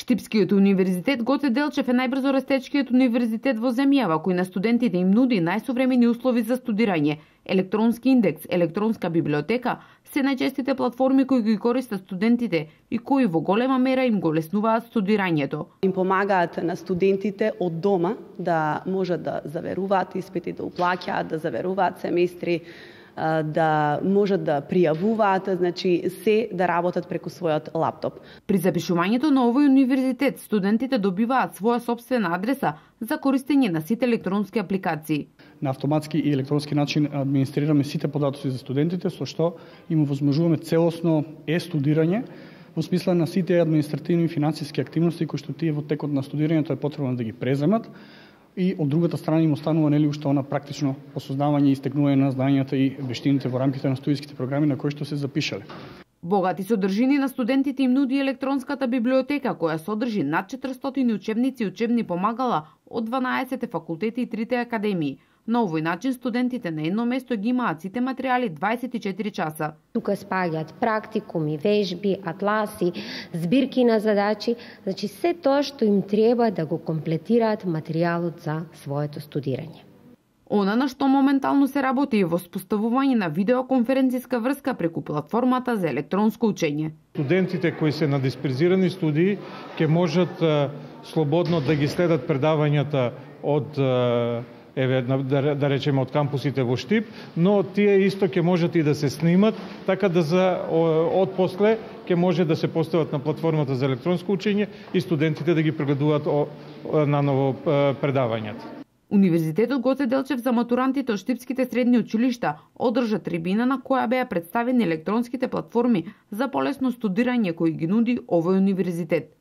Штипскиот универзитет Гоце Делчев е најбрзо растечкиот универзитет во земјава кој на студентите им нуди најсовремени услови за студирање. Електронски индекс, електронска библиотека се најчестите платформи кои ги користат студентите и кои во голема мера им го леснуваат студирањето. Им помагаат на студентите од дома да можат да заверуваат испити, да уплаќаат, да заверуваат семестри, да можат да пријавуваат, значи се да работат преку својот лаптоп. При запишувањето на овој универзитет, студентите добиваат своја сопствена адреса за користење на сите електронски апликации. На автоматски и електронски начин администрираме сите податоци за студентите, со што им овозможуваме целосно студирање во смисла на сите административни и финансиски активности кои што тие во текот на студирањето е потребно да ги преземат. И од другата страна им останува уште она практично осознавање и стекнување на знањата и вештините во рамките на студиските програми на кои што се запишале. Богати содржини на студентите им нуди електронската библиотека која содржи над 400 учебници и учебни помагала од 12 факултети и 3 академии. На овој начин студентите на едно место ги имаат сите материјали 24 часа. Тука спаѓаат практикуми, вежби, атласи, збирки на задачи, значи се тоа што им треба да го комплетираат материјалот за своето студирање. Она на што моментално се работи е во споставување на видеоконференциска врска преку платформата за електронско учење. Студентите кои се на дисперзирани студии ќе можат слободно да ги следат предавањата од да речеме од кампусите во Штип, но тие исто ќе можат и да се снимат, така да од после ќе може да се постават на платформата за електронско учење и студентите да ги прегледуваат наново предавањата. Универзитетот Гоце Делчев за матурантите од штипските средни училишта одржа трибина на која беа представени електронските платформи за полесно студирање кои ги нуди овој универзитет.